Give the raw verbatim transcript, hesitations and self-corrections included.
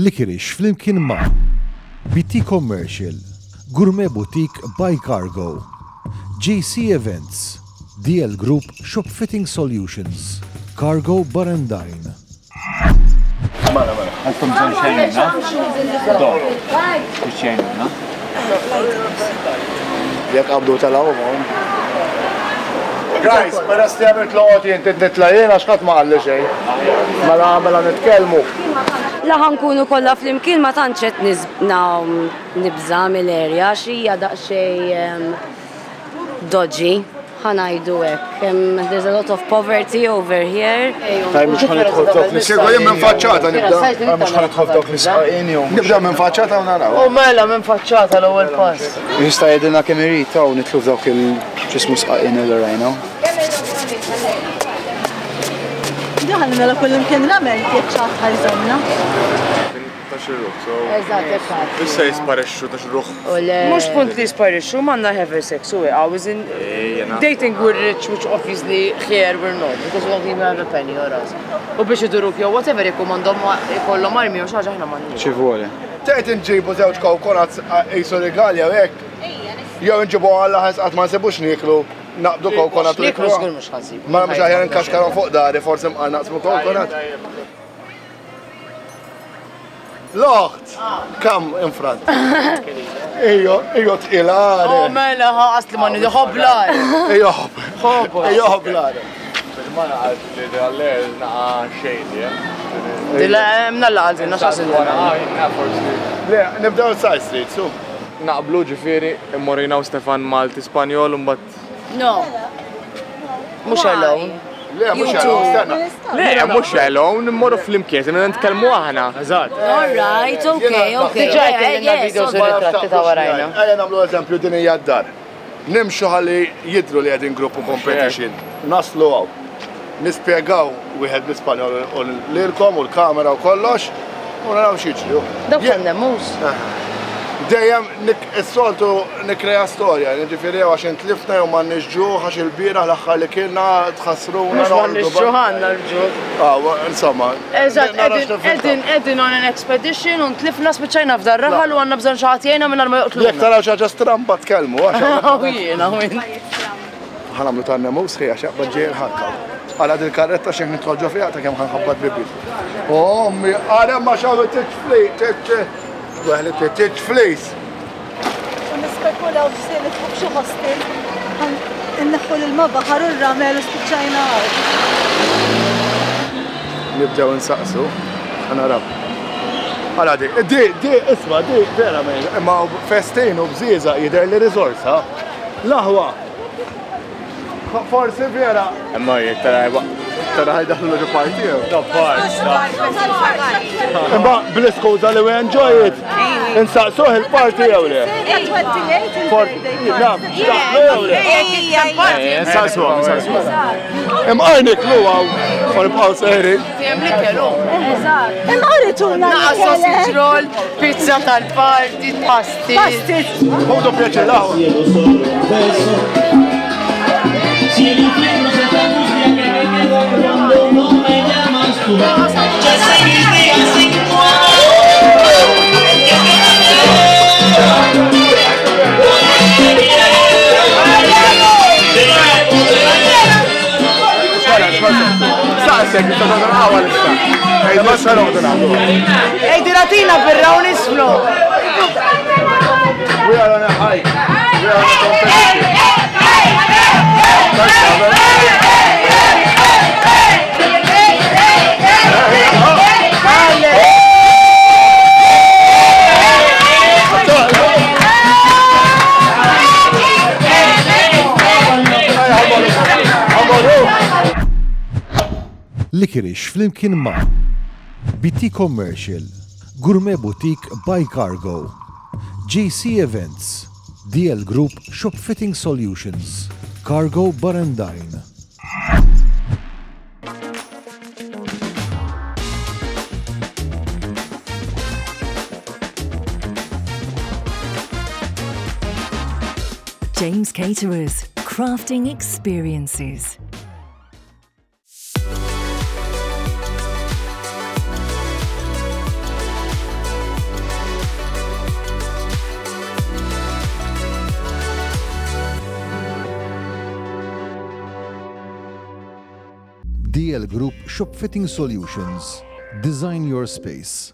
Licorice flimkien ma' B T Commercial, Gourmet Boutique by Cargo, J C Events, D L Group Shop Fitting Solutions, Cargo Bar and Dine. Mela, mela, għandkom bżonn xejnuna? Do, xejnuna? Jekk qabdu telgħu. Guys, peress li għamilt loqgħod jien nitla' jien għax ħadd ma qalli xejn. Mela mela nitkellmu. La ħa nkunu kollha flimkien, ma tantx qed nibża' mill-area għax hija daqsxejn dodgy, ħa ngħidu hekk. There's a lot of poverty over here. Taj mhux ħa nidħol f'dawk l Kieku jien minn faċċata nibda. Mhux ħa nidħol f'dawk l-isqaqin jew. Nibda minn faċċata u naraw. U mela minn faċċata l-ewwel pass. Jista' jgħidilna kemm irid hawn nidħlu f'dawk il-ġismu sqaqin li rajna. Daħal mela kullimkien ramel jekk xi ħadd ħa jżommna. Ta' xi ruħ, so. Eżatt, eżatt. Issa jisparixxu ta' xi ruħ. Mhux punt li jisparixxu, m'għandna have sex u I was in dating, we're rich, which obviously here we're not, because we don't even have a penny or us. U biex iduruk jew whatever, jekk m'għandhom ikollhom armi u xi ħaġa, aħna m'għandniex. Xi vuole. Tgħid inġibu żewġ coconuts qisu rigali jew hekk. Jew inġibu għalla ħes qatt ma nsibux nieklu, naqbdu coconut u Nieklu żgur mhux ħa nsibu. Ma mhux aħjar nkaxkarhom fuq dari, forsi mqar naqsmu coconut. L-oħt, come in front. Ejjo, ejjo tqilare. Oh mela ħaqas li ma nidu ħoblar. Ejjo ħob. Ejjo ħoblare. Il-mara għalt li għaller naqa shady, eh? Dilla mnalla għaltina x'għasil. Forsi. Le, nibdew side street, su. Naqblu ġifieri, immorina u Stefan Malti Spanjol u mbagħad. No. Mhux alone. Le, mhux alone, stenna. Le, mhux alone, immorru flimkien, se nitkellmu aħna. Eżatt. All right, okay, okay. Diġà jkellimna videos u ritratti ta' warajna. Ejja nagħmlu eżempju, din hija d-dar. Nimxu ħalli jidru li qegħdin gruppu competition. Naslu hawn. Nispjegaw wieħed bl-Ispanjol u lilkom u l-kamera u kollox u naraw x'jiġri. Dawk tan-nemus. Dejjem is-soltu nikreja storja, jiġifieri għax intlifna jew m'għandniex ġuħ għax il-bieraħ l-aħħar li kienna tħassruna. Mhux m'għandniex ġuħ, għandna l-ġuħ. Ah, insomma. Eżatt, qegħdin qegħdin on an expedition u ntlifna, spiċċajna f'dar raħal u għandna bżonn xi ħadd jgħinna mingħajr ma joqtluna. Jekk taraw xi ħaġa stramba tkellmu għax. Jiena, jien. Ħa nagħmlu tan-nemus ħija xaqba ġej il-ħakka. Għala dil-karretta xejn nidħol ġo fiha ta' kemm ħa nħabbat bibi. Ommi, għara ma xawu tiċfli, tiċ Weħli tiċflis. U nispekulaw f'si nidħlu f'xi hostel, inneħħu l-ilma baħar u r-ramel u spiċċajna hawn. Nibdew insaqsu, ħa naraw. Għala di, di, di, isma, di, vera men, imma festin u bżieza jidher li risorsa. L-aħwa. Forsi vera. Imma jek tara Tara ħa jdaħlu ġo party. No, part. Imma bl-iskuża li we enjoy it. Insaqsuh il-party jew le? Naf, jew le? Insaqsu, insaqsu. Imqar niklu hawn, u nibqgħu sejrin. Hemm l-ikel hu. Imma urituna. Naqa sausage roll, pizza tal-party, pasti. Pasti. Ħudu pjaċir l-aħwa. Si el infierno se te angustia que me quedo cuando no me llamas tú. Ya sé mis días sin tu amor. Que te quiero. Te quiero. Te Saqsek, inta tagħmel issa. Ej, ma xa noqogħdu nagħmlu. Ej, diratina birra u nisfnu. We are on a hike. We are on a competition. Licorice flimkien ma' B T Commercial, Gourmet Boutique by Cargo, J C Events, D L Group Shop Fitting Solutions, Cargo Bar and Dine. James Caterers, crafting experiences. D L Group Shop Fitting Solutions. Design your space.